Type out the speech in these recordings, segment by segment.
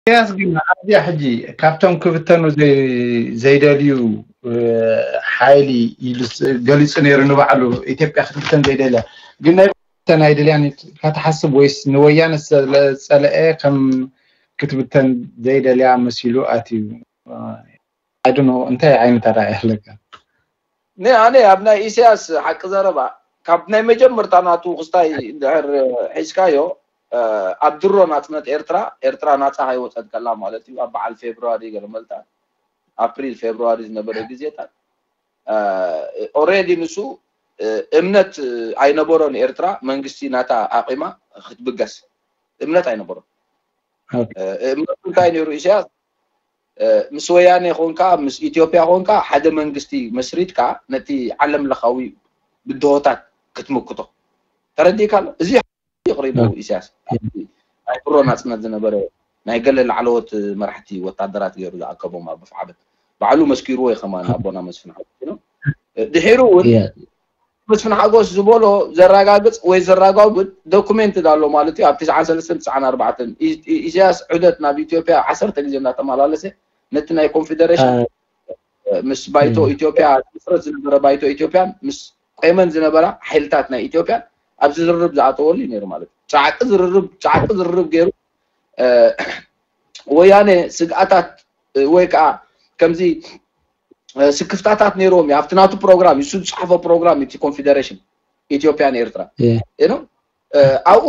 ኢሳያስ ግን ኣብዚኣ ሕጂ ካብቶም ክብተኑ ዘይ- ዘይደልዩ ሓይሊ ኢሉ ገሊፁ ነይሩ ንባዕሉ። ኢትዮጵያ ክትብተን ዘይደልያ ግን ናይ ብተን ኣይደልያን ከተሓስብ ወይስ ንወያነ ዝፀለአ ከም ክትብተን ዘይደልያ መሲሉ ኣትዩ? ኣይድኖ እንታይ ዓይነት ኣረኣእያ ኣለካ? ነ ኣነ ኣብ ናይ ኢሳያስ ሓቂ ዘረባ ካብ ናይ መጀመርታ ናቱ ክስታይ እንድሕር ሒዝካዮ ኣብ ድሮ ናጽነት ኤርትራ ኤርትራ ናጻ ከይወጸት ከላ ማለት እዩ። ኣብ በዓል ፌብርዋሪ ገለ መልታ ኣፕሪል ፌብርዋሪ ዝነበረ ግዜታት ኦሬዲ ንሱ እምነት ኣይነበሮን ኤርትራ መንግስቲ ናታ ኣቂማ ክትብገስ እምነት ኣይነበሮን። እምነቱ እንታይ ነይሩ ኢሳያስ? ምስ ወያኔ ኮንካ ምስ ኢትዮጵያ ኮንካ ሓደ መንግስቲ መስሪትካ ነቲ ዓለም ለኻዊ ብድሆታት ክትምክቶ ተረዲእካ ኣሎ። እዚ ይቕሪቡ ኢሳያስ ናይ ድሮ ናጽነት ዝነበረ ናይ ገለ ላዕለዎት መራሕቲ ወታደራት ገይሩ ዝኣከቦም ኣብ ኣፍዓበት ባዕሉ መስኪርዎ እዩ። ከማን ኣቦና መስፍን ሓጎስ ድሒሩ እውን መስፍን ሓጎስ ዝበሎ ዘረጋግጽ ወይ ዘረጋግጥ ዶኩሜንት ኣሎ ማለት እዩ። ኣብ ትስዓን ሰለስተን ትስዓን ኣርባዕተን ኢሳያስ ዑደት ናብ ኢትዮጵያ ዓሰርተ ግዜ እናተመላለሰ ነቲ ናይ ኮንፌደሬሽን ምስ ባይቶ ኢትዮጵያ ዝምስረት ዝነበረ ባይቶ ኢትዮጵያን ምስ ቆይመን ዝነበራ ሓይልታት ናይ ኢትዮጵያን ኣብ ዝርርብ ዝኣተወሉ እዩ ነይሩ ማለት እዩ። ጻዕቂ ዝርርብ ጻዕቂ ዝርርብ ገይሩ ወያነ ስግኣታት ወይ ከዓ ከምዚ ስክፍታታት ነይርዎም እዩ። ኣብቲ ናቱ ፕሮግራም እዩ ዝፅሓፎ ፕሮግራም እቲ ኮንፌደሬሽን ኢትዮጵያን ኤርትራ ነው። ኣብኡ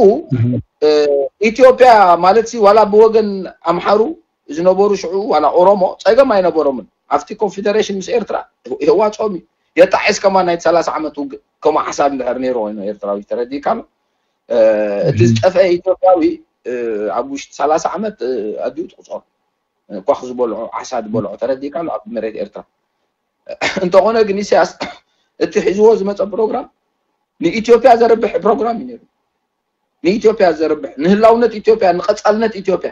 ኢትዮጵያ ማለት ሲ ዋላ ብወገን ኣምሓሩ ዝነበሩ ሽዑ ዋላ ኦሮሞ ፀገም ኣይነበሮምን። ኣብቲ ኮንፌደሬሽን ምስ ኤርትራ የዋፅኦም እዩ። የጣዒስ ከማ ናይ ሰላሳ ዓመት ውግእ ከምኡ ሓሳብ እንድሕር ነይሩ ኮይኑ ኤርትራዊ ተረዲእካ ኣሎ። እቲ ዝጠፍአ ኢትዮጵያዊ ኣብ ውሽጢ ሰላሳ ዓመት ኣዲኡ ትቁፀሩ ኳኽ ዝበልዖ ዓሳ ዝበልዖ ተረዲእካ ኣሎ ኣብ መሬት ኤርትራ። እንተኾነ ግን ኢሳያስ እቲ ሒዝዎ ዝመፀ ፕሮግራም ንኢትዮጵያ ዘርብሕ ፕሮግራም እዩ ነይሩ። ንኢትዮጵያ ዘርብሕ ንህላውነት ኢትዮጵያ ንቐፃልነት ኢትዮጵያ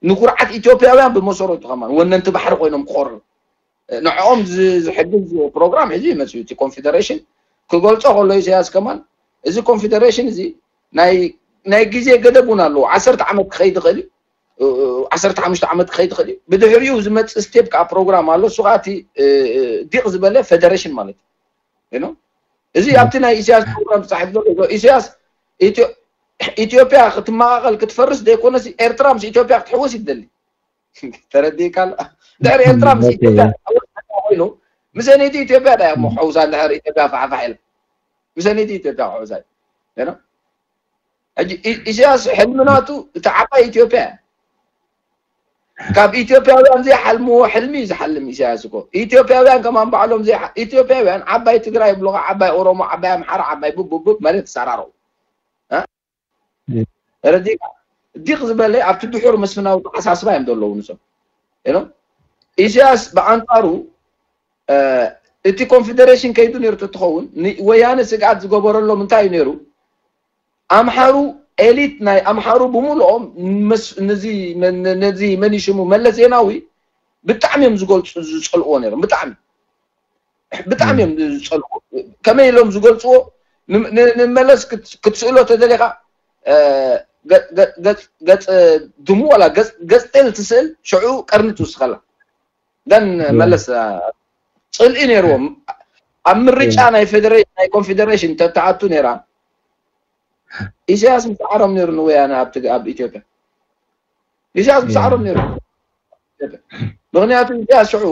ንኩርዓት ኢትዮጵያውያን ብመሰረቱ ከማን ወነንቲ ባሕሪ ኮይኖም ክኾርዑ ንዕኦም ዝሕግዝ ፕሮግራም ሒዙ ይመፅኡ። እቲ ኮንፌደሬሽን ክገልፆ ከሎ ኢሳያስ ከማን እዚ ኮንፌደሬሽን እዚ ናይ ግዜ ገደብ እውን ኣለዎ። ዓሰርተ ዓመት ክኸይድ ይኽእል እዩ። ዓሰርተ ሓሙሽተ ዓመት ክኸይድ ይኽእል እዩ። ብድሕሪኡ ዝመፅእ ስቴፕ ከዓ ፕሮግራም ኣሎ። እሱ ከዓ እቲ ዲቕ ዝበለ ፌደሬሽን ማለት እዩ። እዚ ኣብቲ ናይ ኢሳያስ ፕሮግራም ተፃሒፍ ዘሎ ኢሳያስ ኢትዮጵያ ክትመቃቀል ክትፈርስ ዘይኮነሲ ኤርትራ ምስ ኢትዮጵያ ክትሕወስ ይደሊ። ተረዲእካ ኣሎ። ድሕሪ ኤርትራ ምስ ኢትዮጵያ ክትሕወስ ኮይኑ ምስ ሰነይቲ ኢትዮጵያ ዳ እሞ ሕውሳ ድሕሪ ኢትዮጵያ ፋሕፋሕ ኢለ ምስ ሰነይቲ ኢትዮጵያ ክሕውሳ እዩ። ሕጂ ኢሳያስ ሕልሚ ናቱ እቲ ዓባይ ኢትዮጵያ እያ። ካብ ኢትዮጵያውያን ዘይሓልምዎ ሕልሚ እዩ ዝሓልም ኢሳያስ እኮ። ኢትዮጵያውያን ከማን ባዕሎም ኢትዮጵያውያን ዓባይ ትግራይ ይብሉኻ፣ ዓባይ ኦሮሞ፣ ዓባይ ኣምሓራ፣ ዓባይ ቡብቡብ ማለት ተሰራረቑ። ተረዲእካ? ዲቕ ዝበለ ኣብቲ ድሑር መስፍናዊ ተሓሳስባ እዮም ዘለዉ ንሶም። ኢሳያስ ብኣንጻሩ እቲ ኮንፌደሬሽን ከይዱ ነይሩ ተትኸውን ንወያነ ስግኣት ዝገበረሎም እንታይ እዩ ነይሩ? ኣምሓሩ ኤሊት ናይ ኣምሓሩ ብምልኦም ነዚ መን ሽሙ መለስ ዜናዊ ብጣዕሚ እዮም ዝገልፁ ዝፀልእዎ ነይሮም። ብጣዕሚ ብጣዕሚ እዮም ዝፀልእዎ። ከመይ ኢሎም ዝገልፅዎ? ንመለስ ክትስእሎ ተደሊኻ ገፅ ድሙ ዋላ ገፅ ጤል ትስእል ሽዑ ቀርኒ ትውስኸላ። ደን መለስ ፅልኢ ነይርዎም ኣብ ምርጫ ናይ ፌደሬሽን ናይ ኮንፌደሬሽን ተተኣቱ ነይራ። ኢሳያስ ምስዓሮም ነይሩ ንወያነ ኣብ ኢትዮጵያ ኢሳያስ ምስዓሮም ነይሩ። ምክንያቱ ኢሳያስ ሽዑ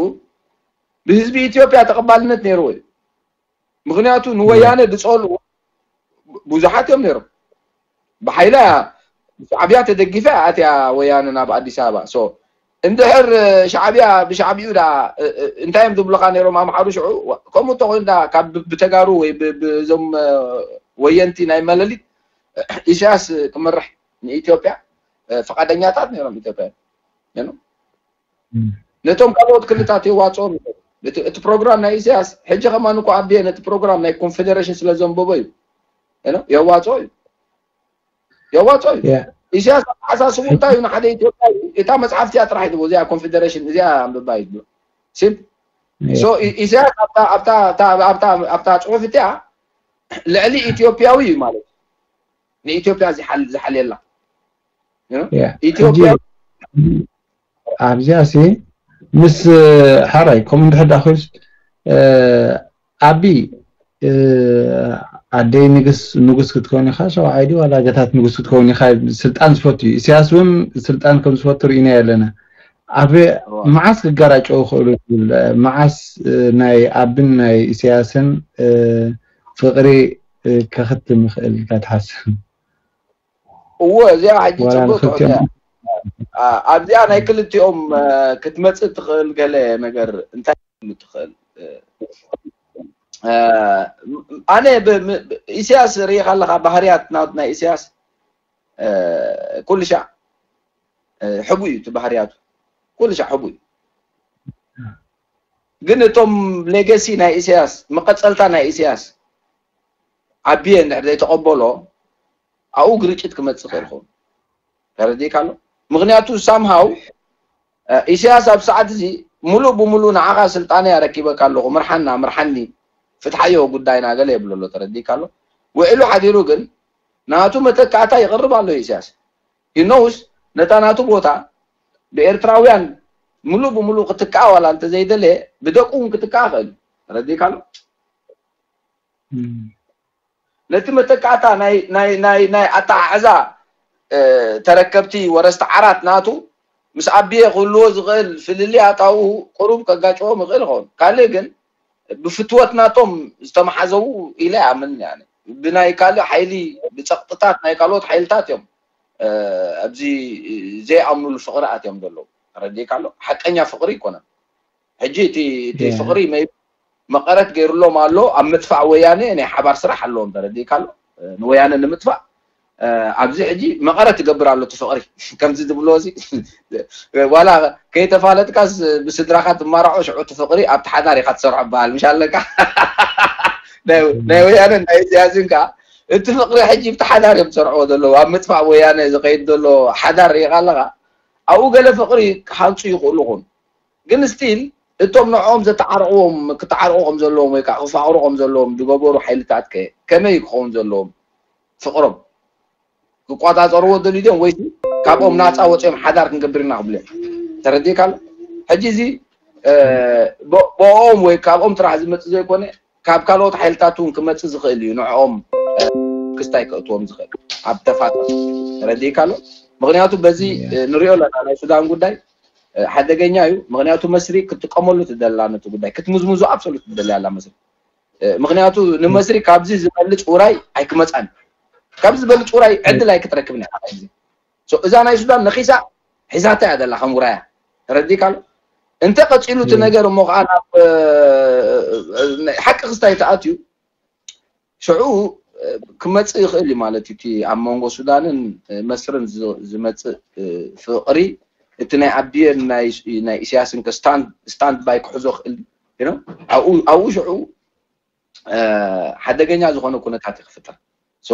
ብህዝቢ ኢትዮጵያ ተቐባልነት ነይርዎ እዩ። ምክንያቱ ንወያነ ዝፀልኡ ብዙሓት እዮም ነይሮም። ብሓይላ ሻዕብያ ተደጊፋ ኣትያ ወያነ ናብ ኣዲስ ኣበባ። እንድሕር ሻዕብያ ብሻዕብዩ ዳ እንታይ እዮም ዝብሉካ ነይሮም ኣምሓሩ ሽዑ? ከምኡ እንተኮይኑ ዳ ካብ ብተጋሩ ወይ ብዞም ወየንቲ ናይ መለሊት ኢሳያስ ክመርሕ ንኢትዮጵያ ፍቃደኛታት ነይሮም ኢትዮጵያ ነቶም ካልኦት ክልታት የዋፅኦም። እቲ ፕሮግራም ናይ ኢሳያስ ሕጂ ከማን እኮ ኣቢየ ነቲ ፕሮግራም ናይ ኮንፌደሬሽን ስለ ዘንበቦ እዩ የዋፅኦ እዩ የዋፅኦ እዩ። ኢሳያስ ኣተሓሳስቡ እንታይ እዩ ንሓደ ኢትዮጵያ እታ መፅሓፍቲ እያ ጥራሕ ይድቦ እዚኣ ኮንፌደሬሽን እዚኣ ኣንብባ ይድሎ። ኢሳያስ ኣብታ ፅሑፍ እቲኣ ልዕሊ ኢትዮጵያዊ እዩ ማለት ንኢትዮጵያ ዝሓልየላ ኢትዮጵያ ኣብዚኣ ሲ ምስ ሓራይ ከምኡ እንድሕር ደኣ ኮይኑስ፣ እ፣ ኣቢ፣ እ፣ ኣደይ ንግስ ንጉስ ክትከውን ኢኻ፣ ሸውዓይ ድዩ ዋላ ገታት ንጉስ ክትከውን ኢኻ፣ ስልጣን ዝፈቱ እዩ። ኢሳያስ እውን ስልጣን ከም ዝፈቱ ርኢና ኣለና። ኣብ መዓስ ክጋራጨው ይኽእሉ ትብል? መዓስ፣ እ፣ ናይ ኣብን ናይ ኢሳያስን፣ እ፣ ፍቕሪ፣ እ፣ ከኽትም ይኽእል ኢልካ ትሓስብ? እዎ፣ እዚኣ ሕጂ ዋላ ጽቡቅ ንኽልቲኦም ትሕቶ እያ። ኣ፣ ኣብዚኣ ናይ ክልቲኦም፣ እ፣ ክትመጽእ ትኽእል ገለ ነገር እንታይ ትኽእል? እ፣ እ፣ ኣነ ብ-፣ ም-፣ ኢሳያስ ርኢኻ ኣለኻ፣ ባህርያት ናት-፣ ናይ ኢሳያስ፣ እ፣ ኩሉ ሻዕ፣ እ፣ ሕጉ እዩ እቲ ባህርያቱ። ኩሉ ሻዕ ሕጉ እዩ። ግን እቶም ሌገሲ ናይ ኢሳያስ፣ መቐጸልታ ናይ ኢሳያስ ዓብየ እንድሕር ዘይተቐበሎ፣ ኣብኡ ግርጭት ክመጽእ ይኽእል ይኸውን። ተረዲእካ ኣሎ? ምኽንያቱ ሳምሃው፣ እ፣ ኢሳያስ ኣብ ሰዓት እዚ ሙሉእ ብሙሉእ ንዓኻ ስልጣነይ ኣረኪበካ ኣለኹ፣ ምርሓና፣ ምርሓኒ፣ ፍትሓዮ ጉዳይና ገለ የብሎ ኣሎ። ተረዲእካ ኣሎ? ውዒሉ ሓዲሩ ግን ናቱ መተካእታ ይቕርብ ኣሎ ኢሳያስ። He knows ነታ ናቱ ቦታ ብኤርትራውያን ሙሉእ ብሙሉእ ክትካእ ዋላ እንተዘይደለየ ብደቁ እውን ክትካእ ይኽእል እዩ። ተረዲእካ ኣሎ? እም፣ ነቲ መተካእታ ናይ፣ ናይ፣ ናይ፣ ናይ ኣተሓሕዛ፣ እ፣ ተረከብቲ ወረስቲ ዓራት ናቱ ምስ ኣቢየ ክህልዎ ዝኽእል ፍልልይ ኣታውኡ ቁሩብ ከጋጭዎም ይኽእል ይኸውን። ካልእ ግን ብፍትወት ናቶም ዝተመሓዘዉ ኢለ ይኣምን። ያኒ ብናይ ካልእ ሓይሊ፣ ብጸቕጥታት ናይ ካልኦት ሓይልታት እዮም፣ እ፣ ኣብዚ ዘይኣምኑሉ ፍቕሪ ኣትዮም ዘለዉ። ተረዲእካ ኣሎ? ሓቀኛ ፍቕሪ ኣይኮነን። ሕጂ እቲ፣ እቲ ያ። ፍቕሪ መይ-፣ መቐረት ገይሩሎም ኣሎ። ኣብ ምጥፋእ ወያነ ናይ ሓባር ስራሕ ኣለዎም። ተረዲእካ ኣሎ? እ፣ ንወያነ ንምጥፋእ፣ እ፣ ኣብዚ ሕጂ መቐረት ይገብር ኣሎ እቲ ፍቕሪ። ከምዚ ዝብሎ እዚ ዋላ ከይተፋለጥካስ ብስድራኻ ትማርዖ፣ ሽዑ እቲ ፍቕሪ ኣብቲ ሓዳር ኢኻ ትሰርዖ በሃል። ምሽ ኣለካ? ናይ፣ ናይ ወያነ ናይ ኢሳያስን ከኣ እቲ ፍቕሪ ሕጂ ብቲ ሓዳር እዮም ዝሰርዕዎ ዘለዉ። ኣብ ምጥፋእ ወያነ ዝኸይድ ዘሎ ሓዳር ርኢኻ ኣለኻ? ኣብኡ ገለ ፍቕሪ ክሃንጹ ይኽእሉ ይኹን። ግን ስቲል እቶም ንዕኦም ዘተዓርቕዎም፣ ክተዓርቑ ከም ዘለዎም ወይ ከዓ ክፋቕሩ ከም ዘለዎም ዝገበሩ ሓይልታት ከ ከመይ ክኸውን ዘለዎም? ፍቕሮም ክቋጻጸርዎ ደልዩ ድዮም ወይስ ካብኦም ናጻ ወጺኦም ሓዳር ክንገብር ኢና ክብሉ እዮም? ተረዲእካ ኣሎ? ሕጂ እዚ፣ እ፣ ብ-፣ ብኦም ወይ ካብኦም ጥራሕ ዝመጽእ ዘይኮነ ካብ ካልኦት ሓይልታት እውን ክመጽእ ዝኽእል እዩ። ንዕኦም፣ እ፣ ክስታይ ከእትዎም ዝኽእል ኣብ ተፋጠር። ተረዲእካ ኣሎ? ምኽንያቱ በዚ፣ እ፣ ንሪኦ ኣለና ናይ ሱዳን ጉዳይ፣ እ፣ ሓደገኛ እዩ። ምኽንያቱ መስሪ ክትጥቀመሉ ትደላ ነቲ ጉዳይ ክትምዝምዞ ኣብሶሉት ትደልያ ኣላ መስሪ። እ፣ ምኽንያቱ ንመስሪ ካብዚ ዝበልጽ ውራይ ኣይክመጻን። ካብዚ ዝበልጽ ውራይ ዕድል ኣይክትረክብን እያ። ሶ እዛ ናይ ሱዳን ነኺሳ ሒዛታ እያ ዘላ ከም ውራያ። ተረዲእካ ኣሎ? እንተ ቀጺሉ እቲ ነገር እሞ ከዓ ናብ፣ እ፣ እ፣ ናይ ሓቂ ክስታይ ተኣትዩ ሽዑ፣ እ፣ ክመጽእ ይኽእል እዩ ማለት እዩ። እቲ ኣብ መንጎ ሱዳንን፣ እ፣ መስርን ዝ-፣ ዝመጽእ፣ እ፣ ፍቕሪ እቲ ናይ ኣቢየን ናይ፣ ናይ ኢሳያስን ከ ስታንድ፣ ስታንድ ባይ ክሕዞ ክእል እዩ። You know? ኣብኡ፣ ኣብኡ ሽዑ፣ እ፣ ሓደገኛ ዝኾነ ኩነታት ይክፍጠር። ሶ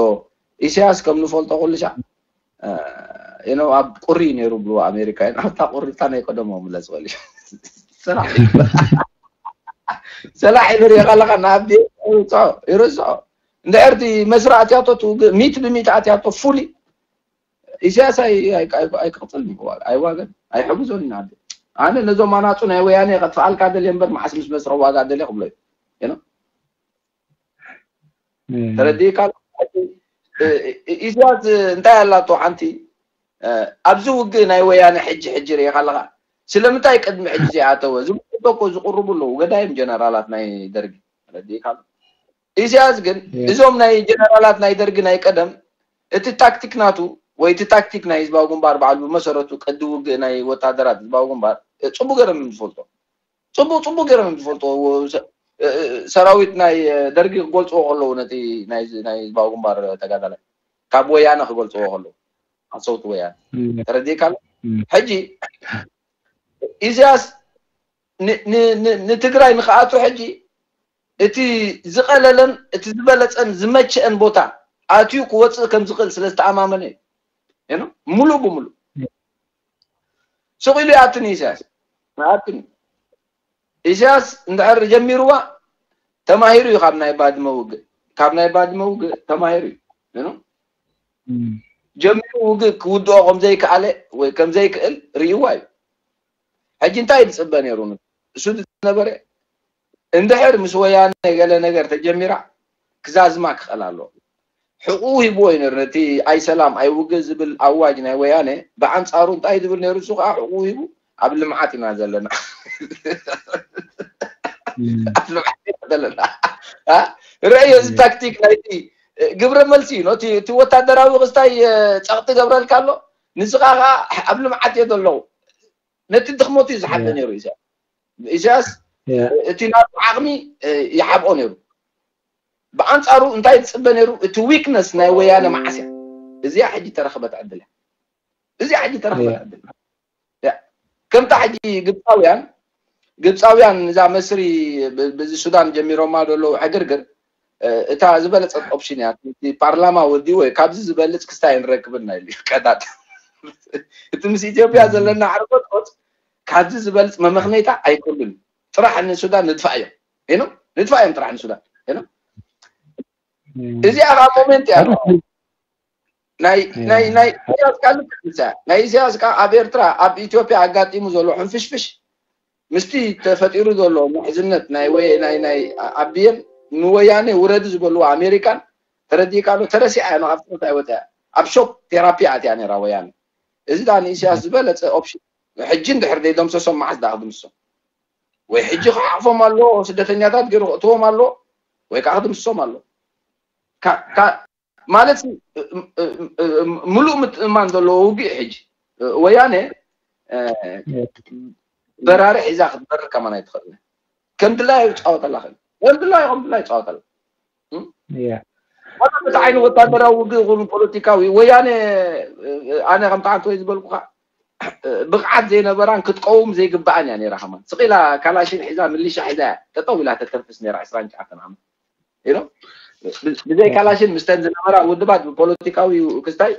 ኢሳያስ ከም ንፈልጦ ኩሉ ሻዕ፣ እ፣ you know፣ ኣብ ቁሪ ነይሩ ብሉ ኣሜሪካ፣ ኣብታ ቁሪ እታ ናይ ቀደሞ ምለስ በል እዩ። ሰላሕ ሰላሕ ይብር የቐለኻ ንኣቢ ይርስዖ፣ ይርስዖ። እንድሕር እቲ መስሪ ኣትያቶ እቲ ውግእ ሚት ብሚት ኣትያቶ ፉሊ ኢሳያስ ኣይ-፣ ኣይ-፣ ኣይ-፣ ኣይክቕጽልን እዩ። ኣይዋገን፣ ኣይሕግዞን ኢና። ኣነ ነዞም ኣናጹ ናይ ወያነ ከጥፍኣልካ ደልየ እምበር መዓስ ምስ መስረ ዋጋ ደልየ ክብሎ እዩ። You know? እም፣ ተረዲእካ ኣሎ? እ-፣ እ-፣ ኢሳያስ እንታይ ኣላቶ ሓንቲ፣ እ፣ ኣብዚ ውግእ ናይ ወያነ ሕጂ፣ ሕጂ ርኢኻ ኣለኻ? ስለምንታይ ቅድሚ ሕጂ ዘይኣተወ? ዝምልከቶ እኮ ዝቕርቡ ኣለዉ። ገዳይም ጀነራላት ናይ ደርጊ። ተረዲእካ ኣሎ? ኢሳያስ ግን የ-፣ እዞም ናይ ጀነራላት ናይ ደርጊ ናይ ቀደም እቲ ታክቲክ ናቱ ወይ እቲ ታክቲክ ናይ ህዝባዊ ግንባር ባዕሉ ብመሰረቱ ቅዲ ውግእ ናይ ወታደራት ህዝባዊ ግንባር፣ እ፣ ጽቡቅ ገይሮም እዮም ዝፈልጦ። ጽቡቅ፣ ጽቡቅ ገይሮም እዮም ዝፈልጦ። ወ-፣ ሰ-፣ እ፣ እ፣ ሰራዊት ናይ፣ እ፣ ደርጊ ክገልጽዎ ከለዉ ነቲ ናይ፣ ናይ ህዝባዊ ግንባር ተጋዳላይ ካብ ወያነ ክገልጽዎ ከለዉ፣ ሓሰውቲ ወያነ። እም፣ ተረዲእካ ኣሎ? እም፣ ሕጂ ኢሳያስ ን-፣ ን-፣ ን-፣ ንትግራይ ንኽኣቱ ሕጂ እቲ ዝቐለለን እቲ ዝበለጸን ዝመቸአን ቦታ ኣትዩ ክወጽእ ከም ዝኽእል ስለ ዝተኣማመነ እዩ። You know? ሙሉእ ብሙሉእ። እም። ስቕ ኢሉ ይኣትን እዩ ኢሳያስ። ይኣትን እዩ። ኢሳያስ እንድሕር ጀሚርዋ ተማሂሩ እዩ ካብ ናይ ባድመ ውግእ። ካብ ናይ ባድመ ውግእ ተማሂሩ እዩ። You know? እም። ጀሚሩ ውግእ ክውድኦ ከም ዘይከኣለ ወይ ከም ዘይክእል ርእይዋ እዩ። ሕጂ እንታይ ዝጽበ ነይሩ? እሱ ዝነበረ እንድሕር ምስ ወያነ ገለ ነገር ተጀሚራ ክዛዝማ ክኽእል ኣለዎ። ሕቑኡ ሂብዎ እዩ ነይሩ። ነቲ ኣይ ሰላም ኣይ ውግእ ዝብል ኣዋጅ ናይ ወያነ ብኣንጻሩ እንታይ ዝብል ነይሩ? እሱ ከዓ ሕቑኡ ሂቡ ኣብ ልምዓት ኢና ዘለና። ኣብ ልምዓት ኢና ዘለና። አ? ርኣዮ፣ እዚ ታክቲክ ናይቲ ግብረ መልሲ እዩ። ነቲ እቲ ወታደራዊ ክስታይ ጸቕጢ ገብረልካ ኣሎ፣ ንስኻ ከዓ ኣብ ልምዓት እየ ዘለኹ። ነቲ ድኽመቱ እዩ ዝሓተ ነይሩ ኢሳያስ። ኢሳያስ እቲ ናቱ ዓቕሚ ይሓብኦ ነይሩ። ብኣንጻሩ እንታይ ዝጽበ ነይሩ? እቲ ዊክነስ ናይ ወያነ መዓስ እያ? እዚኣ ሕጂ ተረኽበት ዕድል እያ። እዚኣ ሕጂ ተረኽበት ዕድል እያ። ከምታ ሕጂ ግብፃውያን ግብፃውያን እዛ መስሪ ብዚ ሱዳን ጀሚሮማ ዘለዉ ዕግርግር እታ ዝበለፀት ኦፕሽን እያ። እቲ ፓርላማ ወዲኡ ወይ ካብዚ ዝበልፅ ክስታይ ንረክብና ኢሉ ቀዳድ። እቲ ምስ ኢትዮጵያ ዘለና ዕርቆት ካብዚ ዝበልፅ መመኽነይታ ኣይኮኑን። ጥራሕ ንሱዳን ንድፋ እዮም ኢሉ ንድፋ እዮም ጥራሕ ንሱዳን ኢሉ እዚኣ ከዓ ሞሜንት እያ። ናይ ናይ ናይ ኢሳያስ ቃል ናይ ኢሳያስ ቃ ኣብ ኤርትራ ኣብ ኢትዮጵያ ኣጋጢሙ ዘሎ ሕንፍሽፍሽ ምስቲ ተፈጢሩ ዘሎ ምሕዝነት ናይ ወይ ናይ ናይ ኣቢየን ንወያኔ ውረዲ ዝበልዎ ኣሜሪካን ተረዲእካ ዶ? ተረሲዓ እያ፣ ካብ ጽሑፍ ኣይወጽኣ። ኣብ ሾክ ቴራፒ ኣትያ ነይራ ወያኔ። እዚ ደኣ ንኢሳያስ ዝበለጸ ኦፕሽን። ሕጂ እንድሕር ዘይደምሰሶም መዓስ ደኣ ክድምስሶም? ወይ ሕጂ ክሓቕፎም ኣለዎ፣ ስደተኛታት ገይሩ ክእትዎም ኣለዎ፣ ወይ ከዓ ክድምስሶም ኣለዎ። ማለት ምሉእ ምትእምማን ዘለዎ ውግእ ሕጂ ወያነ በራሪ ሒዛ ክትበርር ከማን ኣይትኽእል። ከም ድላዩ ይፃወተላ ክእል ከም ድላዩ ከም ድላዩ ይፃወተላ። ዋላ በቲ ዓይኒ ወታደራዊ ውግእ ይኹን ፖለቲካዊ ወያነ ኣነ ከምቲ ዓንተ ወይ ዝበልኩካ ብቕዓት ዘይነበራን ክትቀውም ዘይግብኣን እያ ነይራ። ከማን ስቕ ኢላ ካላሽን ሒዛ ሚሊሻ ሒዛ እያ ጠጠው ኢላ ተተንፍስ ነይራ ዕስራን ትሽዓተን ዓመት። ብዘይ ካላሽን ምስተን ዝነበራ ውድባት ብፖለቲካዊ ክስታይ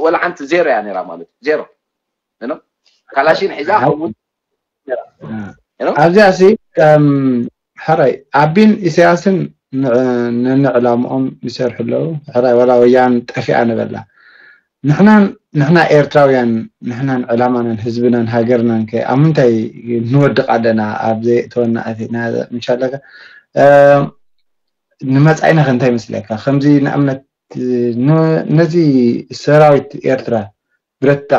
ወላ ሓንቲ ዜሮ እያ ነይራ ማለት እዩ። ዜሮ ካላሽን ሒዛ ከምውን ኣብዚኣ ሲ ሕራይ ኣቢን ኢሳያስን ንንዕላምኦም ይሰርሑ ኣለዉ። ሕራይ ዋላ ወያን ጠፊኣ ንበላ ንሕናን ንሕና ኤርትራውያን ንሕናን ዕላማናን ህዝብናን ሃገርናን ከ ኣብ ምንታይ ንወድቕ ኣለና? ኣብ ዘየእተወና ኣቲና ምሻለካ ንመጻኢና ከ እንታይ ይመስለካ? ከምዚ ንኣብነት ነዚ ሰራዊት ኤርትራ ብረት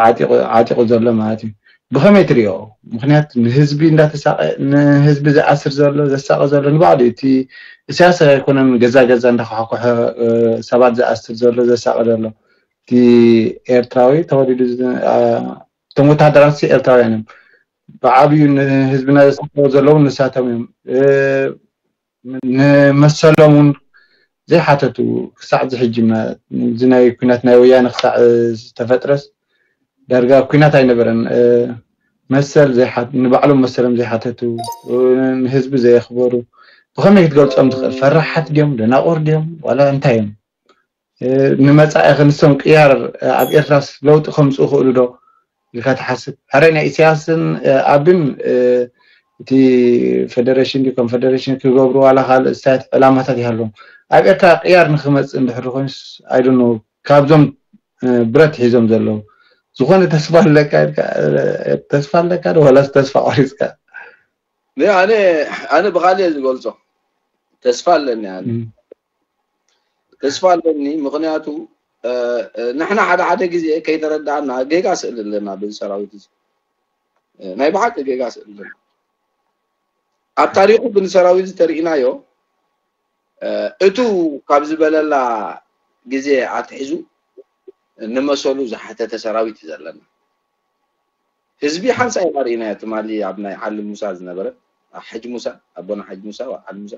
ዓጢቑ ዘሎ ማለት እዩ። ብኸመይ ትሪኦ? ምክንያቱ ንህዝቢ እንዳተሳቐ ንህዝቢ ዝኣስር ዘሎ ዘሳቐ ዘሎ ንባዕሉ እቲ እሳያስ ኣይኮነን ገዛ ገዛ እንዳኳሕኮሐ ሰባት ዝኣስር ዘሎ ዘሳቐ ዘሎ እቲ ኤርትራዊ ተወሊዱ እቶም ወታደራት ኤርትራውያን እዮም። ብዓብዩ ንህዝብና ዘሳቐ ዘለዉ ንሳቶም እዮም። ንመሰሎም እውን ዘይሓተቱ ክሳዕ ዝሕጂ እዚ ናይ ኩናት ናይ ወያነ ክሳዕ ዝተፈጥረስ ዳርጋ ኩናት ኣይነበረን። መሰል ንባዕሎም መሰሎም ዘይሓተቱ ንህዝቢ ዘየኽበሩ ብኸመይ ክትገልፆም ትኽእል? ፈራሓት ድዮም ደናቑር ድዮም ዋላ እንታይ እዮም? ንመፃኢ ክንሶም ቅያር ኣብ ኤርትራስ ለውጢ ከምፅኡ ክእሉ ዶ ኢልካ ትሓስብ? ሕራይ ናይ ኢሳያስን ኣብን እቲ ፌደሬሽን ድዩ ኮንፌደሬሽን ክገብሩ ዋላ ካልእ ስታይት ዕላማታት ይሃልዎም ኣብ ኤርትራ ቅያር ንክመፅእ እንድሕር ኮይኑስ ኣይዶኖ ካብዞም ብረት ሒዞም ዘለዉ ዝኾነ ተስፋ ኣለካ ተስፋ ኣለካ ዶ ዋላስ ተስፋ ቆሪፅካ? ኣነ ኣነ ብካልእ ዝገልፆ ተስፋ ኣለኒ ኣነ ተስፋ ኣለኒ። ምክንያቱ ንሕና ሓደ ሓደ ግዜ ከይተረዳእና ጌጋ ስእል ኣለና በዚ ሰራዊት እዚ ናይ ብሓቂ ጌጋ ስእል ኣለና። ኣብ ታሪኩ ግን ሰራዊት እዚ ተርእናዮ እቱ ካብ ዝበለላ ግዜ ኣትሒዙ ንመሰሉ ዝሓተተ ሰራዊት እዩ ዘለና። ህዝቢ ሓንሳእ ኢና ርኢናዮ ትማሊ ኣብ ናይ ዓሊ ሙሳ ዝነበረ ሓጅ ሙሳ ኣቦና ሓጅ ሙሳ ዓሊ ሙሳ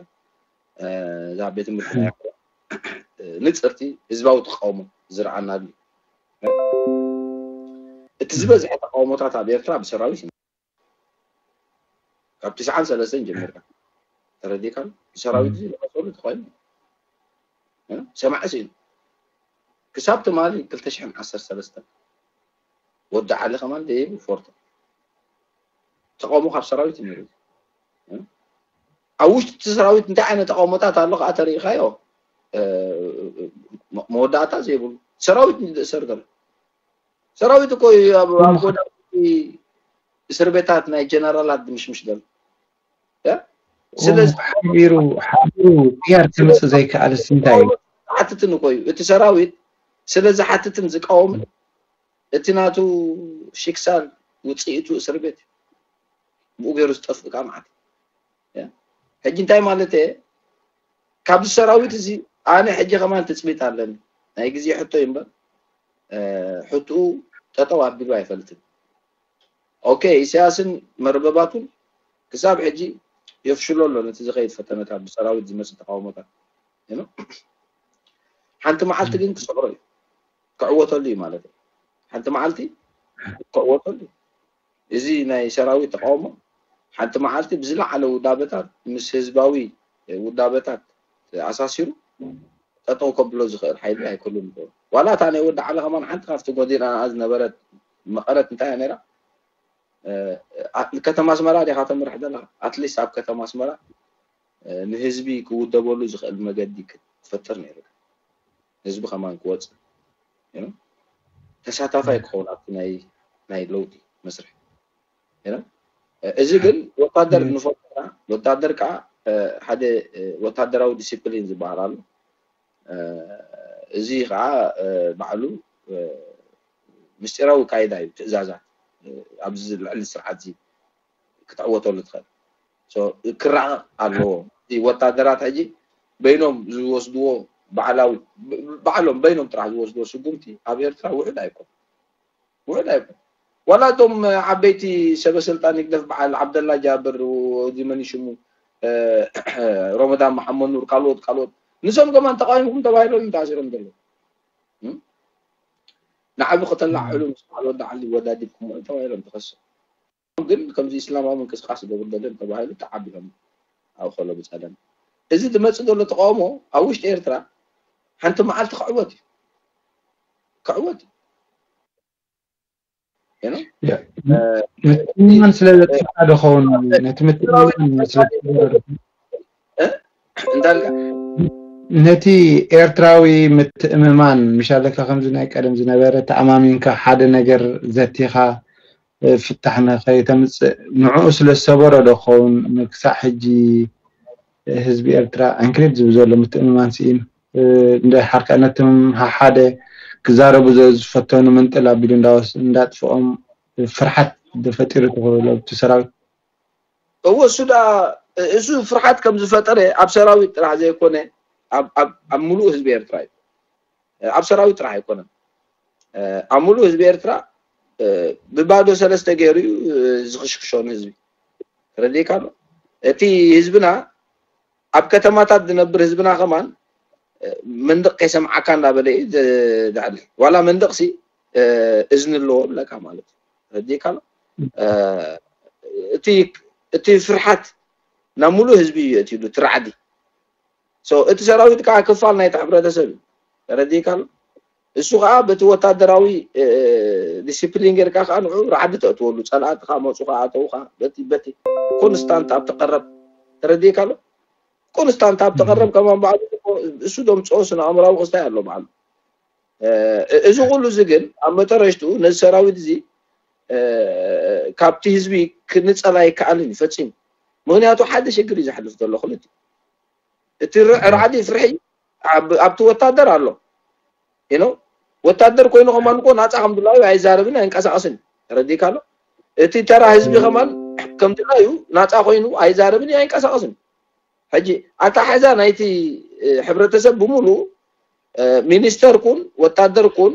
እዛ ቤት ትምህርቲ ናይ ንፅርቲ ህዝባዊ ተቃውሞ ዝረኣናሉ እቲ ዝበዝሐ ተቃውሞታት ኣብ ኤርትራ ብሰራዊት እዩ ካብ ትስዓን ሰለስተን ጀሚርካ ተረዲካ ብሰራዊት እዚ ዝቐሰሉ ተኮይኑ ሰማዒ ስኢኑ ክሳብ ትማሊ ክልተ ሽሕን ዓሰርተ ሰለስተን ወዲ ዓሊ ከማን ደየቡ ፎርቶ ተቃውሞ ካብ ሰራዊት ነይሩ ኣብ ውሽጢ እቲ ሰራዊት እንታይ ዓይነት ተቃውሞታት ኣሎ ከዓ ተሪኢካዮ መወዳእታ ዘይብሉ ሰራዊት ዝእሰር ዘሎ ሰራዊት እኮ እዩ ኣብ ኣብ ጎዳና እስር ቤታት ናይ ጀነራላት ድምሽምሽ ዘሎ። ስለዚ ሓቢሩ ሓቢሩ ቅያር ክምፅእ ዘይከኣልስ እንታይ እዩ? ሓትትን እኮ እዩ እቲ ሰራዊት ስለ ዝሓትትን ዝቃወምን እቲ ናቱ ሽክሳል ውፅኢቱ እስር ቤት ብኡ ገይሩ ዝጠፍእ ካ ማለት ሕጂ እንታይ ማለት እየ ካብዚ ሰራዊት እዚ ኣነ ሕጂ ከማን ትፅቢት ኣለኒ ናይ ግዜ ሕቶ እዩ እምበር ሕትኡ ጠጠው ኣቢሉ ኣይፈልጥን ኦኬ ኢሳያስን መርበባቱን ክሳብ ሕጂ የፍሽሎ ኣሎ ነቲ ዝኸይድ ፈተነታት ብሰራዊት ዝመፅእ ተቃውሞታት ሓንቲ መዓልቲ ግን ክሰዕሮ እዩ ክዕወተሉ እዩ ማለት እዩ ሓንቲ መዓልቲ ክዕወተሉ እዩ እዚ ናይ ሰራዊት ተቃውሞ ሓንቲ መዓልቲ ብዝለዓለ ውዳበታት ምስ ህዝባዊ ውዳበታት ኣሳሲሩ ጠጠው ከብሎ ዝኽእል ሓይሊ ኣይክህሉን ይኽእል ዋላ እታ ናይ ወዲ ዓለ ከማን ሓንቲ ካብቲ ጎዲና ዝነበረት መቐረት እንታይ እያ ነይራ ከተማ ኣስመራ ዲኻ ተምርሕ ዘለኻ ኣትሊስት ኣብ ከተማ ኣስመራ ንህዝቢ ክውደበሉ ዝኽእል መገዲ ክትፈጥር ነይሩ ህዝቢ ከማን ክወፅእ ተሳታፋይ ክኸውን ኣብቲ ናይ ናይ ለውጢ መስርሕ እዚ ግን ወታደር ንፈልጦ ወታደር ከዓ ሓደ ወታደራዊ ዲሲፕሊን ዝበሃል ኣሎ እዚ ከዓ ባዕሉ ምስጢራዊ ካይዳ እዩ ትእዛዛት ኣብዚ ልዕሊ ስርዓት ክትዕወተሉ ትኽእል ክራቐቕ ኣለዎ ወታደራት ሕጂ በይኖም ዝወስድዎ ባዕላዊ ባዕሎም በይኖም ጥራሕ ዝወስድዎ ስጉምቲ ኣብ ኤርትራ ውሕድ ኣይኮን ውሕድ ኣይኮን ዋላ እቶም ዓበይቲ ሰበ ስልጣን ይግደፍ በዓል ዓብደላ ጃብር እዚ መን ሽሙ ሮመዳን መሓመድ ኑር ካልኦት ካልኦት ንሶም ከማን ተቃዊምኩም ተባሂሎም እዮም ተኣሲሮም ዘለዉ ንዓቢ ከተላዕሉ ምስ በዓል ወዲ ዓሊ ወዳዲብኩም ተባሂሎም ተኸሶም ግን ከምዚ እስላማዊ ምንቅስቃስ ይገብር ደለን ተባሂሉ ተዓቢሎም ኣብ ከሎ ብፀለም እዚ ዝመፅእ ዘሎ ተቃውሞ ኣብ ውሽጢ ኤርትራ ሓንቲ መዓልቲ ክዕወት እዩ ክዕወት እዩ ምትእምማን ስለ ዘጥፍኣ ዶ ኸውን ነቲ ምትእምማን ስለ እንዳልካ ነቲ ኤርትራዊ ምትእምማን ምሻለካ ከምዚ ናይ ቀደም ዝነበረ ተኣማሚንካ ሓደ ነገር ዘቲኻ ፍታሕ ንኸይተምፅእ ንዕኡ ስለ ዝሰበሮ ዶ ክኸውን ክሳዕ ሕጂ ህዝቢ ኤርትራ ዕንክሊል ዝብል ዘሎ ምትእምማን ስኢኑ እንደ ሓርካ ነቶም ሓደ ክዛረቡ ዝፈተኑ ምንጥል ኣቢሉ እንዳወስ እንዳጥፍኦም ፍርሓት ዝፈጢሩ ትኽእሉ ኣብቲ ሰራዊት እወ እሱ ዳ እሱ ፍርሓት ከም ዝፈጠረ ኣብ ሰራዊት ጥራሕ ዘይኮነ ኣብ ሙሉእ ህዝቢ ኤርትራ እዩ ኣብ ሰራዊት ጥራሕ ኣይኮነን ኣብ ሙሉእ ህዝቢ ኤርትራ ብባዶ ሰለስተ ገይሩ እዩ ዝኽሽክሾ ንህዝቢ ተረዲእካ ኣሎ እቲ ህዝብና ኣብ ከተማታት ዝነብር ህዝብና ከማን መንደቕ ከይሰምዓካ እንዳበለ እዩ ዘዕልል ዋላ መንደቕሲ እዝኒ ኣለዎ ብለካ ማለት እዩ ተረዲእካ ኣሎ እቲ ፍርሓት ናብ ሙሉእ ህዝቢ እዩ የእትሉ እቲ ራዕዲ እቲ ሰራዊት ከዓ ክፋል ናይቲ ሕብረተሰብ እዩ ተረዲእካ ኣሎ እሱ ከዓ በቲ ወታደራዊ ዲስፕሊን ጌርካ ከዓ ንዑ ራዕዲ ተእትወሉ ፀላእቲ ከዓ መፁ ከዓ ኣተው ከዓ በቲ በቲ ኮንስታንት ኣብ ተቀረብ ተረዲእካ ኣሎ ኮንስታንት ኣብ ተቀረብ ከማን በዓሉ እሱ ደምፅኦ ስነ ኣእምራዊ ክስታይ ኣሎ በዓሉ እዚ ኩሉ እዚ ግን ኣብ መጠረሽትኡ ነዚ ሰራዊት እዚ ካብቲ ህዝቢ ክንፀላ ይከኣልን እዩ ፈፂሙ ምክንያቱ ሓደ ሽግር እዩ ዘሕልፍ ዘሎ ክልቲ እቲ ራዕዲ ፍርሒ ኣብቲ ወታደር ኣሎ ኖ ወታደር ኮይኑ ከማን እኮ ናፃ ከም ድላዩ ኣይዛረብን ኣይንቀሳቀስን ተረዲእካ ኣሎ እቲ ተራ ህዝቢ ከማን ከም ድላዩ ናፃ ኮይኑ ኣይዛረብን ኣይንቀሳቀስን ሕጂ ኣተሓሕዛ ናይቲ ሕብረተሰብ ብምሉ ሚኒስተር ኩን ወታደር ኩን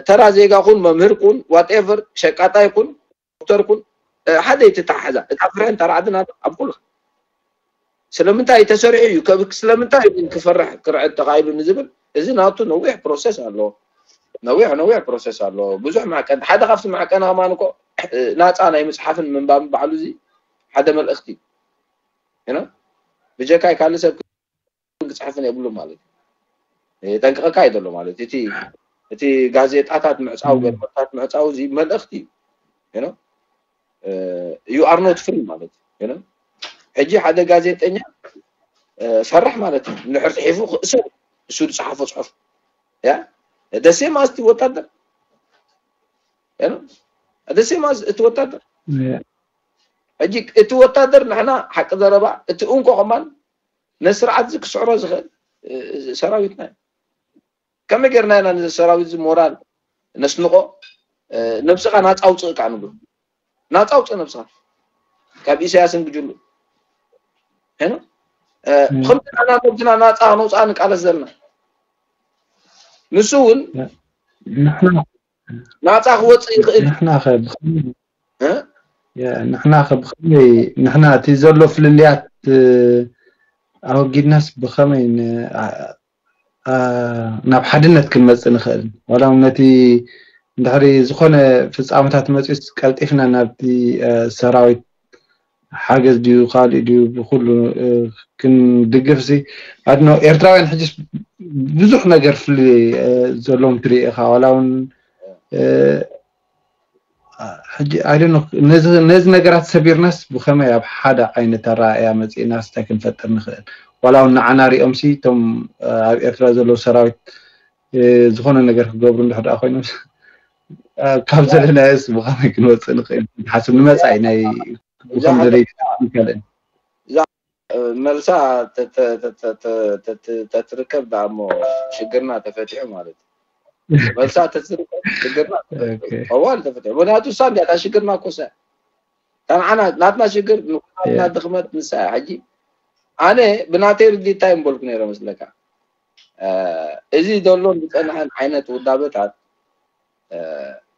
ተራ ዜጋ ኩን መምህር ኩን ዋትኤቨር ሸቃጣይ ኩን ዶክተር ኩን ሓደ ይትተሓሓዛ እታ ፍርሕን ተራዕድን ኣብ ኩሉ ስለምንታይ ተሰሪሑ እዩ ስለምንታይ ግን ክፈርሕ ክርዕድ ተኻኢሉ ንዝብል እዚ ናቱ ነዊሕ ፕሮሰስ ኣለዎ ነዊሕ ነዊሕ ፕሮሰስ ኣለዎ ብዙሕ ማዕቀን ሓደ ካብቲ ማዕቀን ከማን እኮ ናፃ ናይ ምፅሓፍን ምንባብ ባዕሉ እዚ ሓደ መልእክቲ እዩ ብጀካይ ካልእ ሰብ ክፅሕፍን የብሉ ማለት እዩ ጠንቅቀካ እዩ ዘሎ ማለት እቲ እቲ ጋዜጣታት ምዕፃው ገርመታት ምዕፃው እዚ መልእክቲ እዩ you are not free ማለት እዩ ሕጂ ሓደ ጋዜጠኛ ፈራሕ ማለት እዩ ንድሕር ፅሒፉ ክእሰር እሱ ዝፀሓፎ ፅሑፍ ያ ደሴም ኣስቲ ወታደር ደሴም እቲ ወታደር ሕጂ እቲ ወታደር ንሕና ሓቂ ዘረባ እቲ እንኮ ከማን ነስርዓት እዚ ክስዕሮ ዝኽእል ሰራዊትና እዩ። ከመይ ጌርና ኢና ነዚ ሰራዊት እዚ ሞራል ነስንቆ? ነብስኻ ናፃ ውፅእ ከዓ ንብሎ። ናፃ ውፅእ ነብስኻ ካብ ኢሳያስን ግጅሉ። ሄኖ ከምዚ ኢና ነብስና ናፃ ነውፃ ንቃለስ ዘለና። ንሱ እውን ንሕና ናፃ ክወፅእ ይኽእል። ንሕና ከ ብኸመይ ንሕና ከ ብኸመይ ንሕና እቲ ዘሎ ፍልልያት ኣወጊድናስ ብኸመይ ናብ ሓድነት ክንመፅእ ንኽእል? ዋላ እውን ነቲ እንድሕሪ ዝኾነ ፍፃመታት መፂኡስ ቀልጢፍና ናብቲ ሰራዊት ሓገዝ ድዩ ካልእ ድዩ ብኩሉ ክንድግፍ ሲ ኣድኖ ኤርትራውያን ሕጅስ ብዙሕ ነገር ፍልልይ ዘለዎም ትርኢ ኢኻ ዋላ እውን ሕጂ ኣይ ዶንት ኖ ነዚ ነገራት ሰቢርናስ ብኸመይ ኣብ ሓደ ዓይነት ኣረኣእያ መፂእናስ እንታይ ክንፈጥር ንኽእል? ዋላ እውን ንዓና ሪኦም ሲ እቶም ኣብ ኤርትራ ዘለዉ ሰራዊት ዝኾነ ነገር ክገብሩ እንድሕር ደኣ ኮይኖም ካብ ዘለናዮስ ብኸመይ ክንወፅእ ንኽእል? ሓስብ ንመፃኢ ናይ ብኸም ደለይ ካልእን መልሳ ተትርከብ ደኣ እሞ ሽግርና ተፈቲሑ ማለት እዩ። መልሳ ተትርከብ ሽግርና ተፈቲሑ። ጠዋል ተፈቲሑ። ምክንያቱ እሳ እንዲያ እታ ሽግርና እኮ እሳ እያ። እታ ንዓና ናትና ሽግር ንኩናትና ድኽመት ንሳ እያ። ሕጂ ኣነ ብናተይ ርዲት እንታይ ምበልኩ ነይረ መስለካ? እዚ ዘሎን ዝጸንሐን ዓይነት ውዳበታት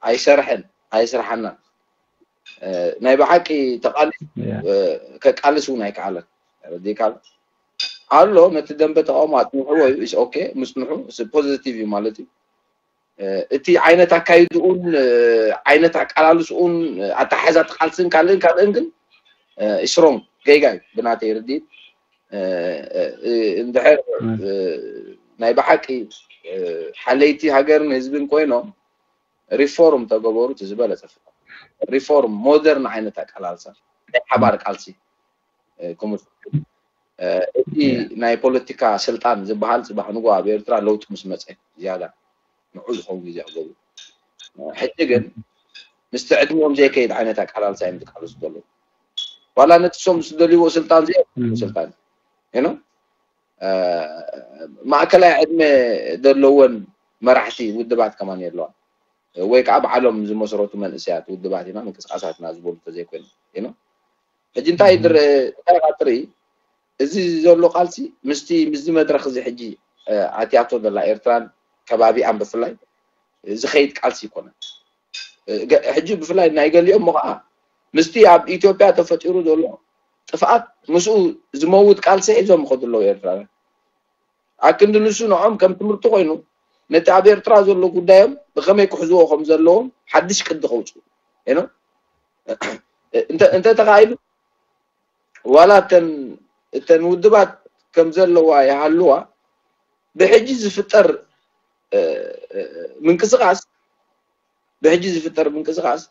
ኣይሰርሐን ኣይስርሓናን። ናይ ብሓቂ ተቃሊ ከቃልስ እውን ኣይከኣለን። ረዲካል ኣሎ ነቲ ደንበ ተቃውሞ ኣጽንሕዎ እዩ። ኢስ ኦኬ ምጽንሑ ፖዚቲቭ እዩ ማለት እዩ። እቲ ዓይነት ኣካይድኡን ዓይነት ኣቃላልስኡን ኣተሓሕዛ ቃልስን ካልእን ካልእን ግን ስሮንግ ጌጋ እዩ ብናተይ ርድኢት። እንድሕር ናይ ብሓቂ ሓለይቲ ሃገርን ህዝብን ኮይኖም ሪፎርም ተገበሩ እቲ ዝበለፀ ፍትሒ ሪፎርም ሞደርን ዓይነት ኣቀላልሳ ናይ ሓባር ቃልሲ ክምስ እቲ ናይ ፖለቲካ ስልጣን ዝበሃል ፅባሕ ንጎ ኣብ ኤርትራ ለውጢ ምስ መፀ ዝያዳ ንዑ ዝኸውን ግዜ ክገብሩ ሕጂ ግን ምስቲ ዕድሚኦም ዘይከይድ ዓይነት ኣቀላልሳ እዮም ዝቃለሱ ዘለዉ ዋላ ነቲ ሶም ዝደልይዎ ስልጣን ዘ ስልጣን ኖ ማእከላይ ዕድመ ዘለወን መራሕቲ ውድባት ከማን የለዋን ወይ ከዓ በዓሎም ዝመሰረቱ መንእሰያት ውድባት ኢና ምንቅስቃሳትና ዝበሉ ተዘይኮይኑ ኖ ሕጂ እንታይ እንታይ ትርኢ እዚ ዘሎ ቃልሲ ምስቲ ምስዚ መድረክ እዚ ሕጂ ኣትያቶ ዘላ ኤርትራን ከባቢኣን ብፍላይ ዝኸይድ ቃልሲ ይኮነ ሕጂ ብፍላይ ናይ ገሊኦም ከዓ ምስቲ ኣብ ኢትዮጵያ ተፈጢሩ ዘሎ ጥፍኣት ምስኡ ዝመውት ቃልሲ ሒዞም ይኸዱ ኣለዉ ኤርትራውያን ኣክንዲ ንሱ ንዖም ከም ትምህርቲ ኮይኑ ነቲ ኣብ ኤርትራ ዘሎ ጉዳዮም ብከመይ ክሕዝዎ ከም ዘለዎም ሓድሽ ቅዲ ከውፅኡ ኖ እንተ ተኻኢሉ ዋላ እተን እተን ውድባት ከም ዘለዋ ይሃልዋ ብሕጂ ዝፍጠር ምንቅስቃስ ብሕጂ ዝፍጠር ምንቅስቃስ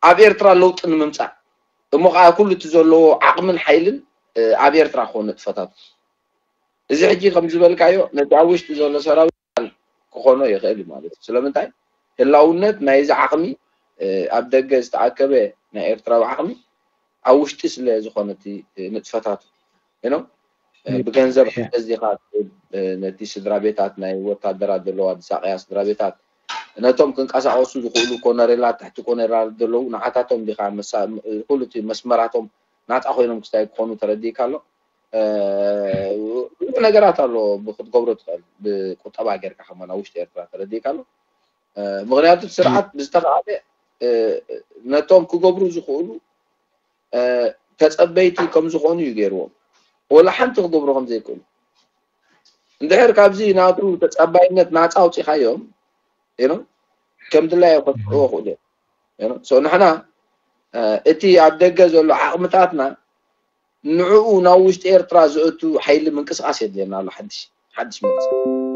ኣብ ኤርትራ ለውጢ ንምምፃእ እሞ ከዓ ኩሉ እቲ ዘለዎ ዓቕምን ሓይልን ኣብ ኤርትራ ክኾን ንጥፈታቱ እዚ ሕጂ ከም ዝበልካዮ ነቲ ኣብ ውሽጢ ዘሎ ሰራዊት ክኾኖ ይኽእል እዩ ማለት እዩ ስለምንታይ ህላውነት ናይዚ ዓቕሚ ኣብ ደገ ዝተኣከበ ናይ ኤርትራዊ ዓቕሚ ኣብ ውሽጢ ስለ ዝኾነ እቲ ንጥፈታቱ ኖ ብገንዘብ ሓገዝ ዲኻ ነቲ ስድራ ቤታት ናይ ወታደራት ዘለዋ ዝሳቀያ ስድራ ቤታት ነቶም ክንቀሳቀሱ ዝኽእሉ ኮነሬላት ትሕቲ ኮነራል ዘለዉ ንዓታቶም ዲኻ ኩሉ እቲ መስመራቶም ናፃ ኮይኖም ክስታይ ክኾኑ ተረዲእካ ኣሎ ብዙሕ ነገራት ኣሎ ክትገብሮ ትኽእል ብቁጠባ ጌርካ ከማን ኣብ ውሽጢ ኤርትራ ተረዲእካ ኣሎ ምክንያቱ ስርዓት ብዝተኻለ ነቶም ክገብሩ ዝኽእሉ ተፀበይቲ ከም ዝኾኑ እዩ ገይርዎም ወላ ሓንቲ ክገብሩ ከም ዘይክእሉ እንድሕር ካብዚ ናቱ ተፀባይነት ናፃ ኣውፂኻዮም ኖ ከም ድላዮ ከጥፍእዎ ክእሉ እዮም ኖ ንሕና እቲ ኣብ ደገ ዘሎ ዓቕምታትና ንዕኡ ናብ ውሽጢ ኤርትራ ዘእቱ ሓይሊ ምንቅስቃስ የድልየና ኣሎ ሓድሽ ሓድሽ ምንቅስቃስ